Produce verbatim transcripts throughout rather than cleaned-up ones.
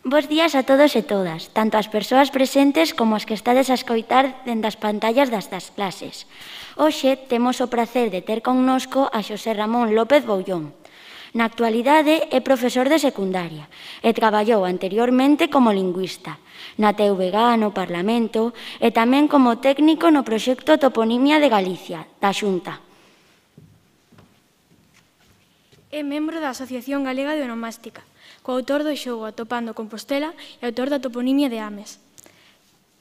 Bos días a todos e todas, tanto as persoas presentes como as que estades a escoitar dende as pantallas das das clases. Hoxe temos o prazer de ter connosco a Xosé Ramón López Boullón. Na actualidade é profesor de secundaria e traballou anteriormente como lingüista na T V G, no Parlamento e tamén como técnico no proxecto Toponimia de Galicia, da Xunta. É membro da Asociación Galega de Onomástica, coautor do xogo Atopando Compostela e autor da toponimia de Ames.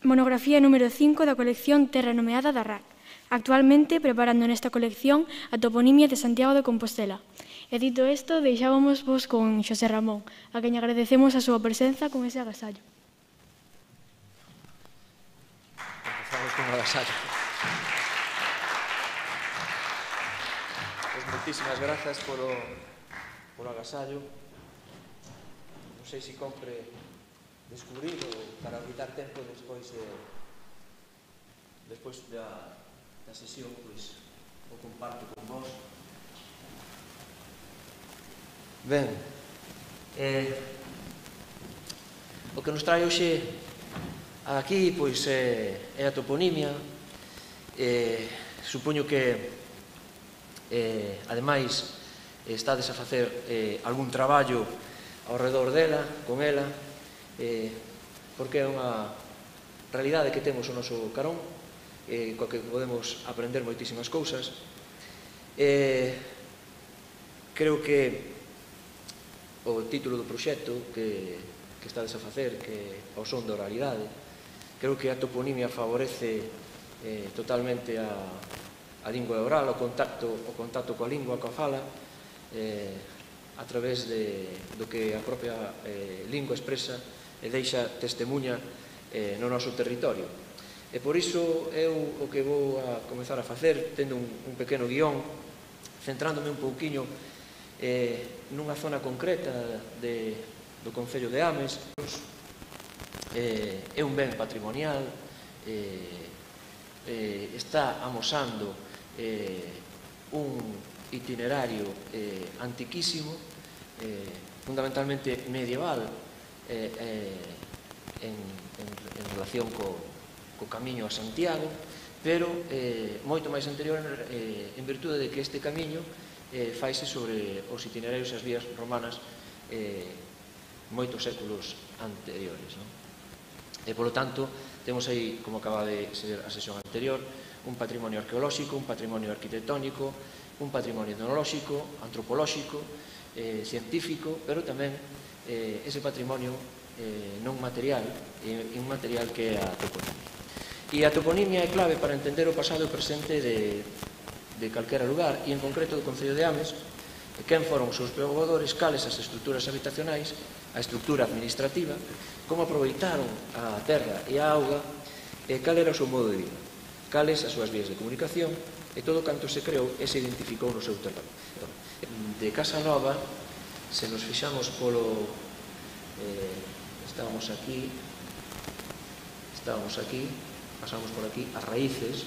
Monografía número cinco da colección Terra Nomeada da R A C, actualmente preparando nesta colección a toponimia de Santiago de Compostela. E dito isto, deixábamos vos con Xosé Ramón, a quen agradecemos a súa presenza con ese agasallo. Empezamos con o agasallo. Pois moitísimas grazas polo, polo agasallo. Non sei se compre descubrir ou para evitar tempo despois de despois da, da sesión, pois o comparto con vos. Ben, eh, o que nos trae hoxe aquí pois é, é a toponimia. Eh, supoño que eh, ademais estades a facer eh, algún traballo ao redor dela, con ela, eh, porque é unha realidade que temos o noso carón, eh, coa que podemos aprender moitísimas cousas. Eh, creo que o título do proxecto que, que estades a facer, que ao son da oralidade, creo que a toponimia favorece eh, totalmente a, a lingua oral, o contacto, o contacto coa lingua, coa fala, eh, a través de, do que a propia eh, lingua expresa e deixa testemunha eh, no noso territorio. E por iso eu o que vou a comezar a facer, tendo un, un pequeno guión, centrándome un pouquiño eh, nunha zona concreta de, do Concello de Ames. Eh, é un ben patrimonial, eh, eh, está amosando eh, un itinerario eh, antiquísimo, eh, fundamentalmente medieval, eh, eh, en, en, en relación co, co camiño a Santiago, pero eh, moito máis anterior eh, en virtude de que este camiño eh, faise sobre os itinerarios e as vías romanas eh, moitos séculos anteriores, non? E, polo tanto, temos aí, como acaba de ser a sesión anterior, un patrimonio arqueolóxico, un patrimonio arquitectónico, un patrimonio etnolóxico, antropolóxico, eh, científico, pero tamén eh, ese patrimonio eh, non material e inmaterial que é a toponimia. E a toponimia é clave para entender o pasado e o presente de, de calquera lugar, e en concreto do Concello de Ames, quen foron os seus poboadores, cales as estruturas habitacionais, a estrutura administrativa, como aproveitaron a terra e a auga, e cal era o seu modo de vida, cales as súas vías de comunicación, e todo canto se creou e se identificou no seu terreno. De Casa Nova, se nos fixamos polo... Eh, estábamos aquí, estábamos aquí, pasamos por aquí, as raíces,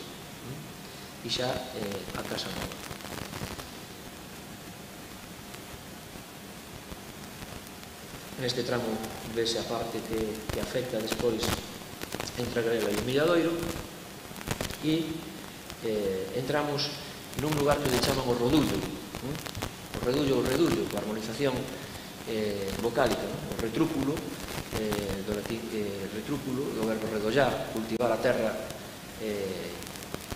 e xa eh, a Casa Nova. Neste tramo vese a parte que, que afecta despois entre a Grela e o Milladoiro, e eh, entramos nun lugar que le chaman o Rodullo, ¿no? O Redullo ou Redullo, coa armonización eh, vocálica, ¿no? O retrúpulo, eh, do latín eh, retrúpulo, do verbo redollar, cultivar a terra eh,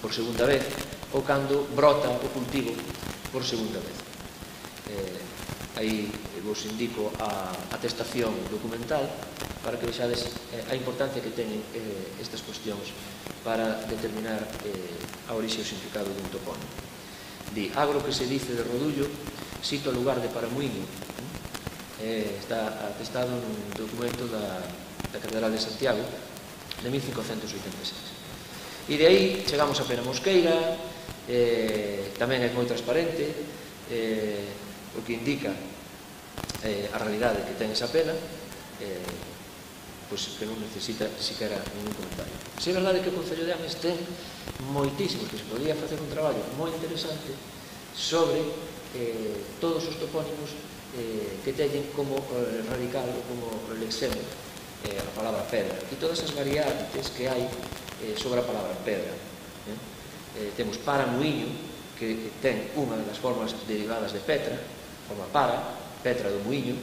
por segunda vez, ou cando brota o cultivo por segunda vez. Eh, aí vos indico a atestación documental para que vexades eh, a importancia que teñen eh, estas cuestións para determinar eh, a orixe e o significado dun topónimo. Di, agro que se dice de Rodullo, sito o lugar de Paramuíño. Eh, está atestado nun documento da, da Catedral de Santiago de mil cincocentos oitenta e seis. E de aí chegamos a Pena Mosqueira, eh, tamén é moi transparente, eh, o que indica eh, a realidade que ten esa pena, eh, pois que non necesita siquiera ningún comentario. Se é verdade que o Concello de Ames ten moitísimos, que se podría facer un traballo moi interesante sobre eh, todos os topónimos que teñen como radical, como lexema, a palabra pedra, e todas as variantes que hai sobre a palabra pedra. Temos para muiño, que ten unha das formas derivadas de petra, forma para, petra do muiño,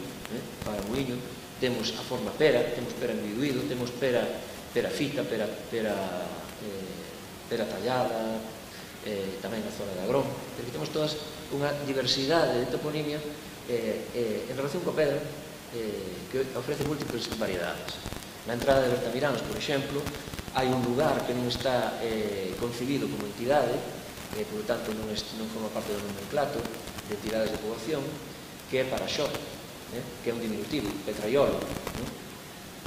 para muiño. Temos a forma pera, temos pera enviduído, temos pera fita, pera tallada, tamén na zona de Agrón. Temos todas unha diversidade de toponimia en relación coa pedra que ofrece múltiples variedades. Na entrada de Bertamiráns, por exemplo, hai un lugar que non está concibido como entidade, e, por tanto, non forma parte do nomenclato de entidades de poboación, que é Paraxó, que é un diminutivo, Petraiolo,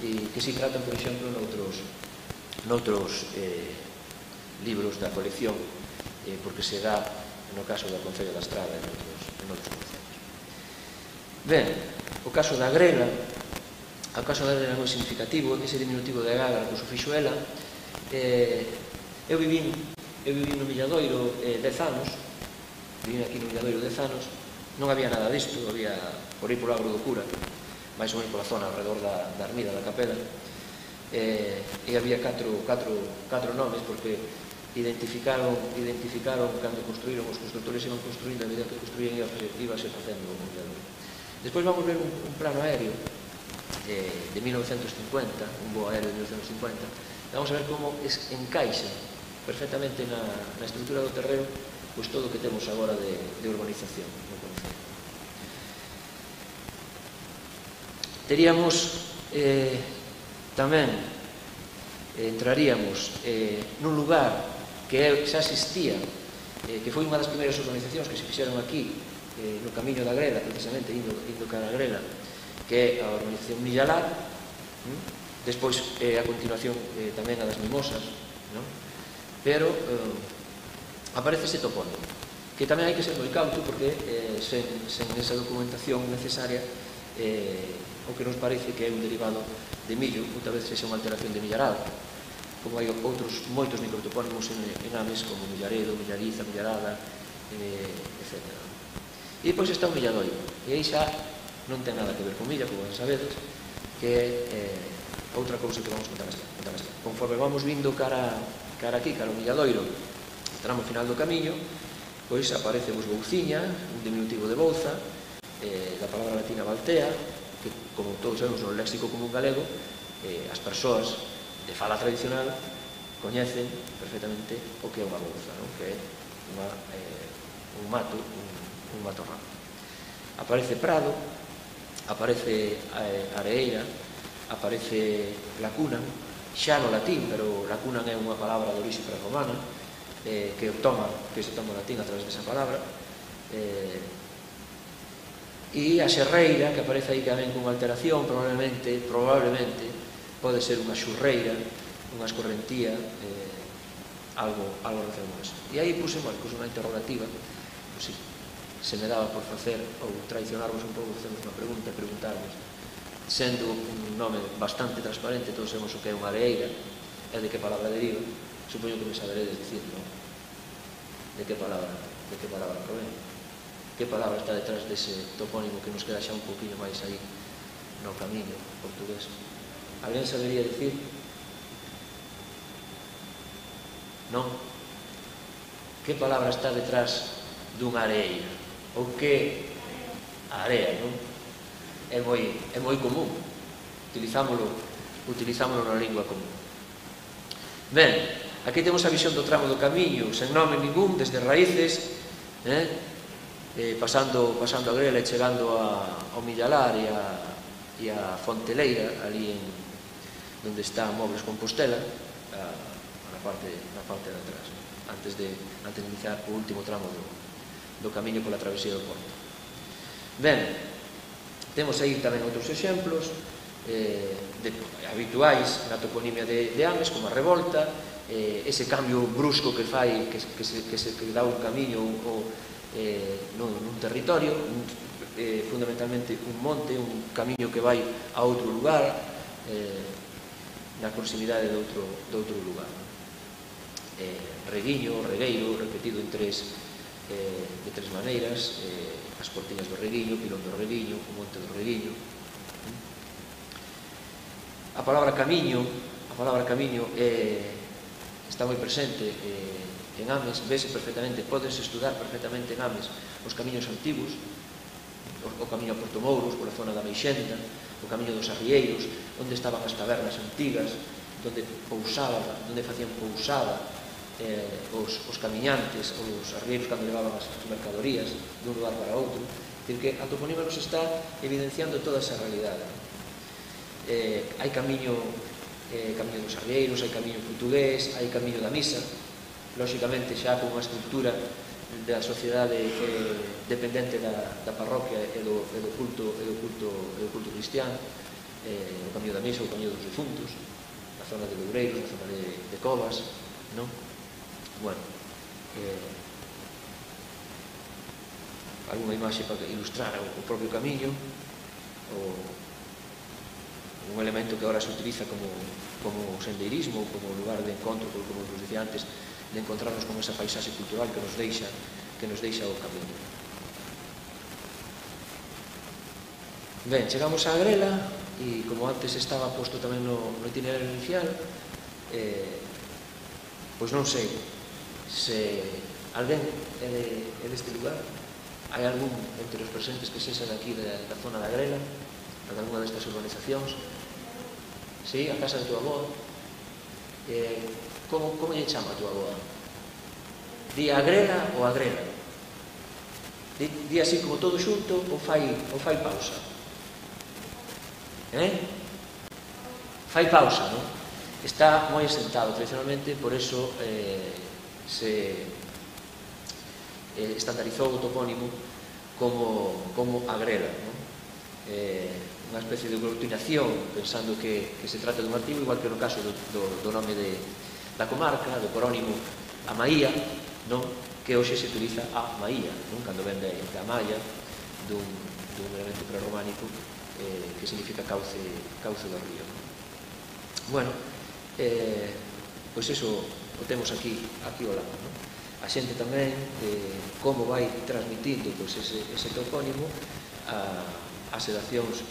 e que se tratan, por exemplo, noutros libros da colección, porque se dá no caso da Concello da Estrada e noutros concellos. Ben, o caso da grela, o caso da grela é moi significativo, ese diminutivo de Gágara, que o sufixo ela. Eu vivín no Milladoiro dez anos, vivín aquí no Milladoiro dez anos, non había nada disto, había por aí polo Agro do Cura, máis ou menos pola zona alrededor da ermida da Capela, e había catro nomes, porque identificaron cando construíron, os constructores iban construindo, a medida que construían íbase facendo o Milladoiro. Despois vamos ver un plano aéreo de mil novecientos cincuenta, un voo aéreo de mil novecientos cincuenta, vamos a ver como encaixa perfectamente na estrutura do terreo pois todo o que temos agora de urbanización no concello. Teríamos tamén, entraríamos nun lugar que xa existía, que foi unha das primeiras urbanizacións que se fixeron aquí no camiño da Grela, precisamente indo cara a Grela, que é a urbanización Millalar. Despois, a continuación, tamén a das Mimosas, pero aparece ese topónimo, que tamén hai que ser moi cauto, porque sen esa documentación necesaria o que nos parece que é un derivado de millo, outra vez sexa unha alteración de Millarado, como hai outros moitos microtopónimos en Ames, como Millaredo, Millariza, Millarada, etcétera. E depois está o Milladoiro, e aí xa non ten nada que ver con Milla, como sabedes, que é outra cousa que vamos contar esta. Conforme vamos vindo cara aquí, cara ao Milladoiro, tramo final do camiño, pois aparece vos Bouciña, un diminutivo de Bouza, da palabra latina Baltea, que, como todos sabemos no léxico común galego, as persoas de fala tradicional coñecen perfectamente o que é unha bouza, que é un mato, un matorral. Aparece prado, aparece areeira, aparece lacuna, xa no latín, pero lacuna é unha palabra de orixe prerromana, que toma, que se toma o latín a través desa palabra, e a xerreira, que aparece aí tamén con alteración, probablemente, probablemente, pode ser unha xurreira, unha escorrentía, algo relacionado con eso. E aí puse unha interrogativa, se me daba por facer ou traicionarvos un pouco, facemos unha pregunta e preguntarvos, sendo un nome bastante transparente, todos sabemos o que é unha areeira e de que palabra deriva, supoño que me saberedes dicir, non? De que palabra, de que palabra provén? Que palabra está detrás dese topónimo que nos queda xa un poquinho máis aí no camiño portugués? Alguén sabería dicir? Non? Que palabra está detrás dunha areeira? Ou que a area, non? É moi común, utilizámolo na lingua común. Ben, aquí temos a visión do tramo do camiño, sen nome ningún, desde Raíces, pasando a Grela e chegando ao Millalar e a Fonteleira, ali onde está Mobles Compostela, na parte de atrás, antes de iniciar o último tramo do camiño pola travesía do Porto. Ben, temos aí tamén outros exemplos habituais na toponimia de Ames, como a revolta, ese cambio brusco que fai, que dá un camiño nun territorio, fundamentalmente un monte, un camiño que vai a outro lugar, na proximidade de outro lugar. Reguiño, regueiro, repetido en tres de tres maneiras, as Portiñas do Reguiño, Pilón do Reguiño, o Monte do Reguiño. A palabra camiño, a palabra camiño está moi presente en Ames, vese perfectamente, podes estudar perfectamente en Ames os camiños antigos, o camiño a Porto Mouros, pola zona da Meixenda, o camiño dos Arrieiros, onde estaban as tabernas antigas, onde pousaba, onde facían pousada eh, os, os camiñantes, os arrieiros cando levaban as mercadorías dun lugar para outro. Dicir que a toponima nos está evidenciando toda esa realidade. Eh, hai camiño, eh, camiño dos arrieiros, hai camiño portugués, hai camiño da misa, lóxicamente xa con unha estructura da sociedade eh, dependente da, da parroquia e do, e do culto, e do culto, e do culto cristiano, eh, o camiño da misa, o camiño dos difuntos, na zona de Loureiros, na zona de, de Covas, non? Bueno, eh, alguna imaxe para ilustrar o propio camiño, o, un elemento que agora se utiliza como, como sendeirismo, como lugar de encontro, como vos dicía antes, de encontrarnos con esa paisaxe cultural que nos deixa, que nos deixa o camiño. Ben, chegamos á Grela, e como antes estaba posto tamén no, no itinerario inicial, eh, pois non sei se alguén é, de, é deste lugar, hai algún entre os presentes que sexan aquí da, da zona da Grela, de alguna destas urbanizacións. Sí, a casa de tua avó. Eh, como, como lle chama a tua avó? Di a Grela ou a Grela? Di, di así como todo xunto ou fai, ou fai pausa? Eh? Fai pausa, non? Está moi asentado tradicionalmente, por eso eh, se eh, estandarizou o topónimo como, como a Grela, non? Eh, unha especie de aglutinación, pensando que, que se trata dun artigo, igual que no caso do, do, do nome de, da comarca, do corónimo a Maía, non? Que hoxe se utiliza a Maía, non? Cando ven de, de Amaya, dun, dun elemento prerrománico eh, que significa cauce, cauce do río. Bueno, eh, pois eso o temos aquí, aquí ao lado, non? A xente tamén de como vai transmitindo pois, ese, ese topónimo a, as xeracións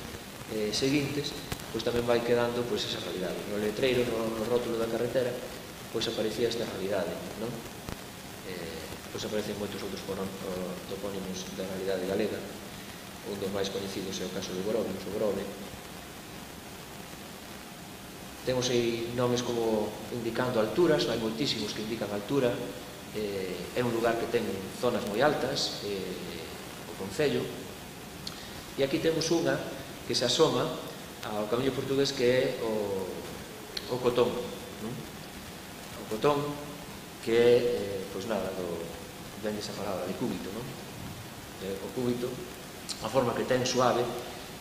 eh, seguintes, pois tamén vai quedando pois, esa realidade. No letreiro, no, no rótulo da carretera, pois aparecía esta realidade, non? Eh, pois aparecen moitos outros topónimos da realidade galega. Un dos máis coñecidos é o caso de Grove, o Grove. Temos aí nomes como indicando alturas, hai moitísimos que indican altura. Eh, é un lugar que ten zonas moi altas, eh, o concello. E aquí temos unha que se asoma ao camiño portugués que é o, o Cotón, non? O Cotón que é, eh, pois nada, do, ven esa palabra, de cúbito, non? Eh, o cúbito, a forma que ten suave,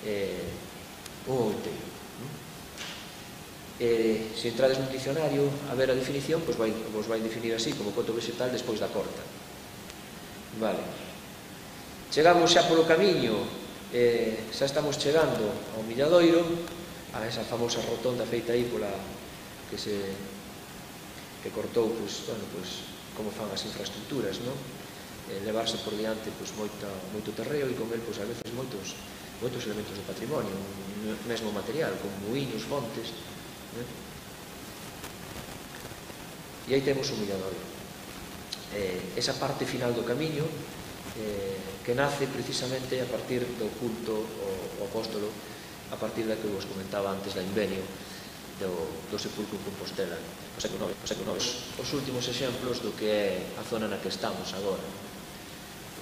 eh, un outeiro. Eh, se entrades nun dicionario a ver a definición, pois vai, vos vai definir así, como coto vegetal despois da corta. Vale. Chegamos xa polo camiño, eh, xa estamos chegando ao Milladoiro, a esa famosa rotonda feita aí pola que se que cortou, pois, bueno, pois, como fan as infraestructuras, non? Eh, levarse por diante pois, moita, moito terreo e con el, pois, a veces moitos, moitos elementos de patrimonio, mesmo material, como muiños, fontes, e aí temos o Milladoiro. Eh, esa parte final do camiño eh, que nace precisamente a partir do culto ao apóstolo, a partir da que vos comentaba antes da Invenio do, do sepulcro en Compostela, o século nove, o século nove. Os últimos exemplos do que é a zona na que estamos agora.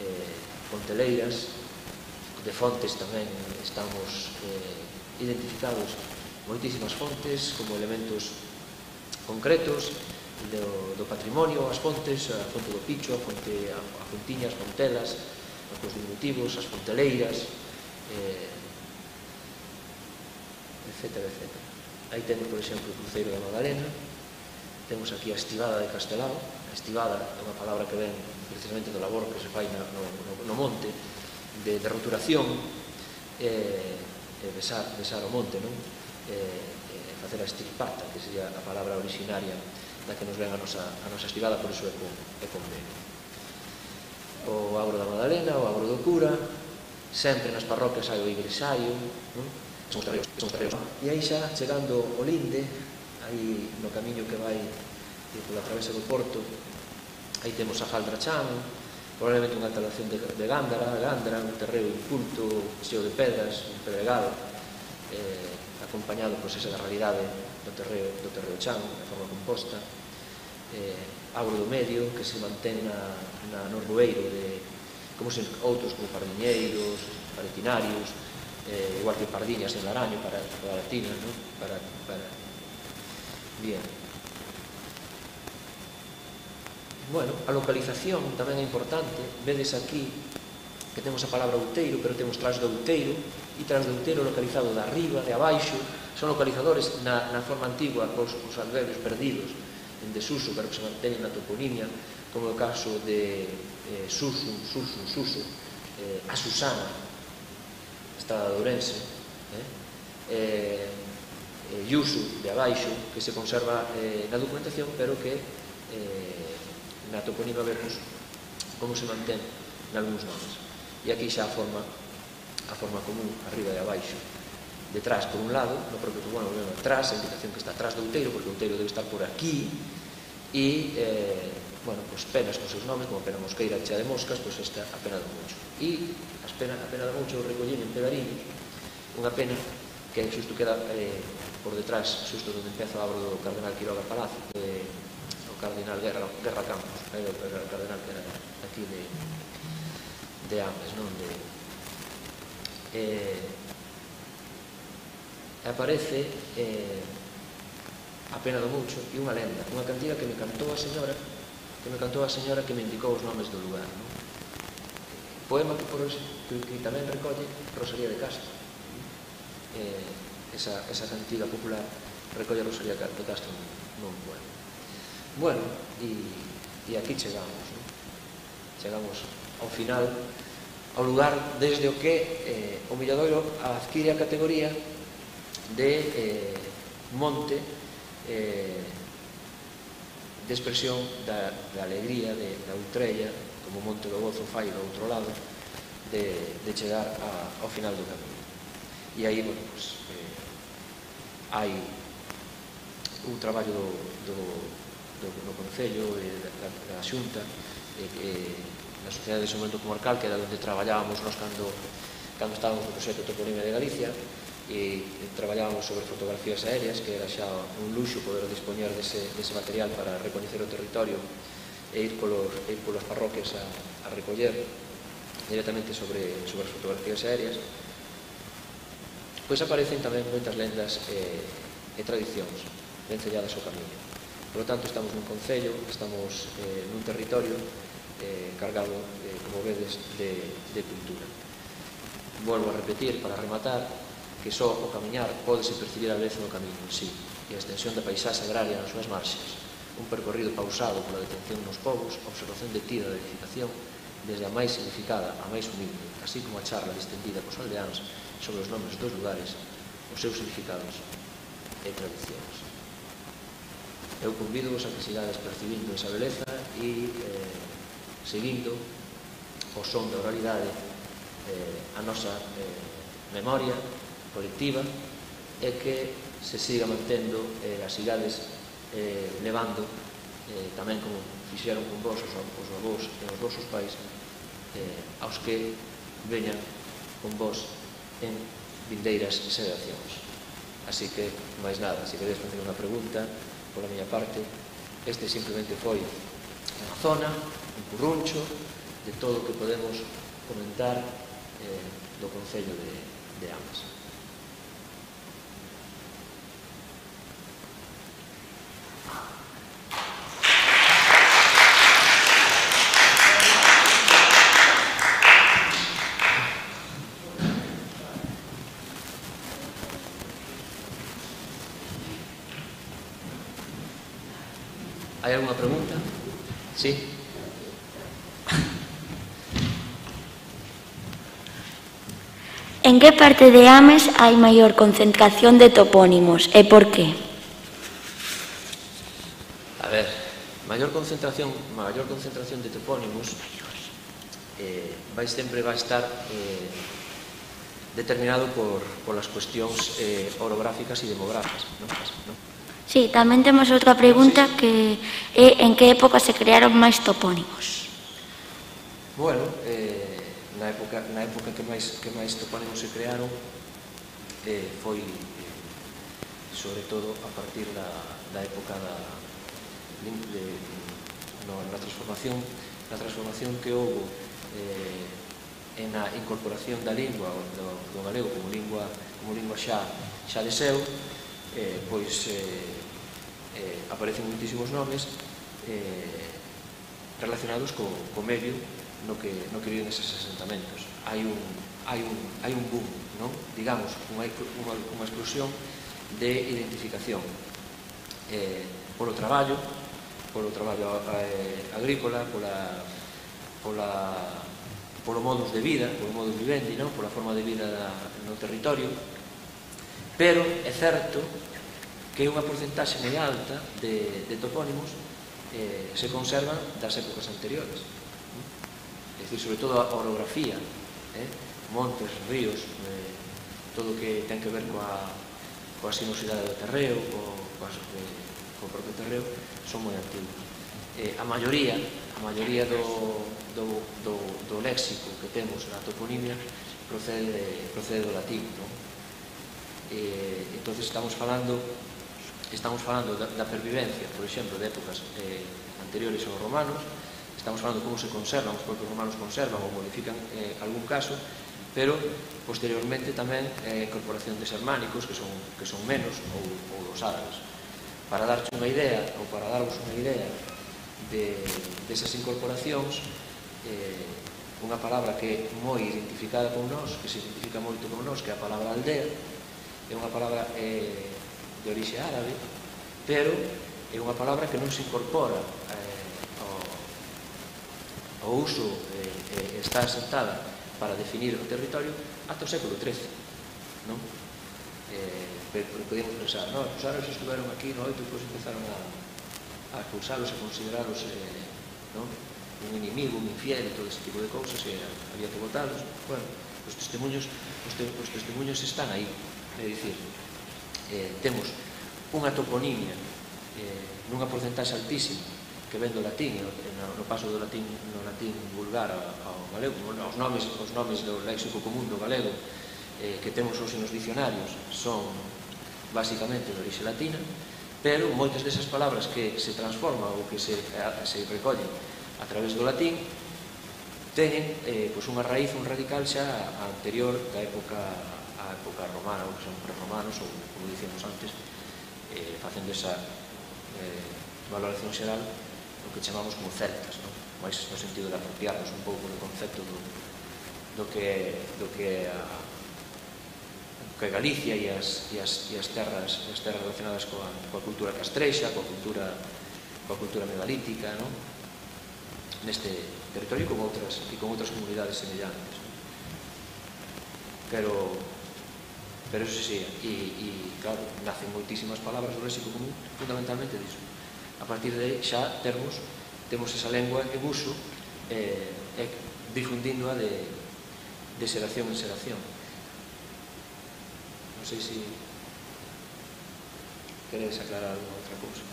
Eh, Ponteleiras, de fontes tamén estamos eh, identificados moitísimas fontes como elementos concretos do, do patrimonio, as fontes, a fonte do Picho, a fonte, a, a Fontiña, as Fontelas, os diminutivos, as Ponteleiras, eh, etcétera, etcétera. Aí temos, por exemplo, o cruceiro da Magdalena, temos aquí a estivada de Castelao. A estivada é unha palabra que ven precisamente do labor que se fai no, no, no monte, de, de roturación, eh, e besar, besar o monte, non? Eh, eh, facer a estirpata, que sería a palabra originaria da que nos ven a nosa, a nosa estivada, por iso é con, é con B. O Agro da Madalena, o Agro do Cura, sempre nas parroquias hai o igresaio, e aí xa chegando ao Linde, aí no camiño que vai pola travesa do Porto, aí temos a Jaldra Chan, probablemente unha instalación de, de Gándara, Gándara, un terreo inculto, cheo de pedras, un pedregal, eh, acompañado por esa realidade do terreo, do terreo Chan, de forma composta, eh, Agro do Medio, que se mantén na, na Norboeiro, de, como se, outros como Pardiñeiros, Paretinarios, eh, igual que Pardiñas en Laraño, para, para Tinas, ¿no? Para, para... Bien. Bueno, a localización tamén é importante. Vedes aquí que temos a palabra outeiro, pero temos tras do outeiro, e tras do outeiro localizado de arriba, de abaixo, son localizadores na, na forma antigua, os, os adverbios perdidos en desuso, pero que se manteñen na toponimia, como o caso de eh, Susu, Susu, Susu, eh, a Susana, Estrada de Ourense, eh, eh, eh, Yusu, de abaixo, que se conserva eh, na documentación, pero que eh, na toponimia vemos como se mantén nalgúns nomes. E aquí xa a forma, a forma común, arriba e abaixo. Detrás, por un lado, no propio bueno, bueno, atrás, a indicación que está atrás do outeiro, porque o outeiro debe estar por aquí, e, eh, bueno, pues penas con seus nomes, como a pena mosqueira chea de moscas, pois pues esta a pena do Mucho. E as pena, a pena do Mucho recollín en Pedariños, unha pena que xusto queda eh, por detrás, xusto onde empeza o abro do Cardenal Quiroga Palacio, de, o Cardenal Guerra, Guerra Campos, eh, o Cardenal que era aquí de, de Ames, non? De, eh, aparece eh, a pena do Mucho e unha lenda, unha cantiga que me cantou a señora que me cantou a señora que me indicou os nomes do lugar, non? Poema que, por, que, que tamén recolle Rosalía de Castro, eh, esa, esa cantiga popular recolle Rosalía de Castro nun poema. Bueno, e, e aquí chegamos, non? Chegamos ao final, ao lugar desde o que eh, o Milladoiro adquire a categoría de eh, monte eh, de expresión da, da alegría, de, da outrella, como Monte do Gozo fai do outro lado, de, de chegar a, ao final do camiño. E aí, bueno, pues, eh, hai un traballo do, do, do, do Concello e da, da Xunta, e, e na Sociedade de Desenvolvemento Comarcal, que era onde traballábamos nos cando, cando estábamos no proxecto Toponimia de Galicia, e traballábamos sobre fotografías aéreas, que era xa un luxo poder dispoñer dese, dese material para recoñecer o territorio e ir polos, e ir polas parroquias a, a recoller directamente sobre, sobre as fotografías aéreas. Pois aparecen tamén moitas lendas e, e tradicións vencelladas ao camiño. Por lo tanto, estamos nun concello, estamos eh, nun territorio eh, cargado, eh, como vedes, de, de cultura. Volvo a repetir, para rematar, que só o camiñar pódese percibir a beleza no camiño en sí, e a extensión da paisaxe agraria nas súas marxes, un percorrido pausado pola detención nos povos, a observación detida da edificación, desde a máis significada a máis humilde, así como a charla distendida cos aldeáns sobre os nomes dos lugares, os seus significados e tradicións. Eu convido-vos a que sigades percibindo esa beleza e eh, seguindo o son da oralidade eh, a nosa eh, memoria colectiva e que se siga mantendo e as sigades eh, levando eh, tamén como fixeron con vos os, os avós e os vosos pais eh, aos que veñan con vos en vindeiras xeracións. Así que, máis nada, se queredes facer unha pregunta pola miña parte, este simplemente foi unha zona, un curruncho de todo o que podemos comentar eh, do Concello de, de Ames. Hai alguna pregunta? Sí. En que parte de Ames hai maior concentración de topónimos e por qué? A ver, maior concentración, maior concentración de topónimos eh, vai sempre vai estar eh, determinado por, por las cuestións eh, orográficas e demográficas, non? ¿No? Sí, tamén temos outra pregunta que é en que época se crearon máis topónimos? Bueno, eh, na época, na época que máis, que máis topónimos se crearon eh, foi eh, sobre todo a partir da, da época da, de, de, no, na transformación na transformación que houve eh, en a incorporación da lingua do, do galego como lingua, como lingua xa, xa de seu, eh, pois eh, eh, aparecen muitísimos nomes eh, relacionados co, co medio no que, no que viven eses asentamentos. Hai un, hai un, hai un boom, non? Digamos, unha, unha, unha explosión de identificación eh, polo traballo, polo traballo eh, agrícola, pola, pola, polo modus de vida, polo modus vivendi, non? Pola forma de vida da, no territorio, pero é certo que unha porcentaxe moi alta de, de topónimos eh, se conservan das épocas anteriores. É dicir, sobre todo a orografía, eh? montes, ríos, eh, todo o que ten que ver coa, coa sinuosidade do terreo, co, coa, eh, co propio terreo, son moi antigos. Eh, a maioría, a maioría do, do, do, do léxico que temos na toponimia procede, procede do latín, non? Eh, entonces estamos falando estamos falando da, da pervivencia, por exemplo, de épocas eh, anteriores aos romanos, estamos falando de como se conservan, os propios romanos conservan ou modifican eh, algún caso, pero posteriormente tamén a eh, incorporación de germánicos que son, que son menos, ou, ou dos árabes. Para darche unha idea, ou para darvos unha idea de, desas incorporacións, eh, unha palabra que é moi identificada con nós, que se identifica moito con nós, que é a palabra aldea, é unha palabra eh, de orixe árabe, pero é unha palabra que non se incorpora eh, ao, ao uso, eh, eh, está asentada para definir o territorio ata o século trece, non? Eh, podemos pensar, non, os árabes estuveron aquí no oito e depois empezaron a, a acusarlos e consideralos eh, non? Un inimigo, un infiel e todo ese tipo de cousas, e había que votarlos. Bueno, os testemunhos, os, te, os testemunhos están aí, é dicir, eh, temos unha toponimia eh, nunha porcentaxe altísima que ven do latín, no, no paso do latín, no latín vulgar ao galego, os nomes, os nomes do léxico común do galego eh, que temos hoxe nos dicionarios son basicamente de orixe latina, pero moitas desas palabras que se transforman ou que se, se recollen a través do latín teñen eh, pois unha raíz, un radical xa anterior da época a época romana, ou que son prerromanos, ou, como dicíamos antes, eh, facendo esa eh, valoración xeral, o que chamamos como celtas, non? Mais no sentido de apropiarnos un pouco do concepto do, do que do que a, que Galicia e as, e as, e as terras e as terras relacionadas coa, coa cultura castrexa, coa cultura coa cultura megalítica, non? Neste territorio con outras e con outras comunidades semellantes, non? Pero pero eso sí, e, e claro, nacen moitísimas palabras do léxico común fundamentalmente disso. A partir de aí xa termos temos esa lengua en uso eh, e difundíndoa de, de xeración en xeración. Non sei se queres aclarar alguna outra cousa.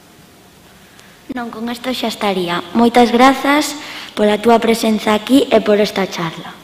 Non, con isto xa estaría. Moitas grazas pola túa presenza aquí e por esta charla.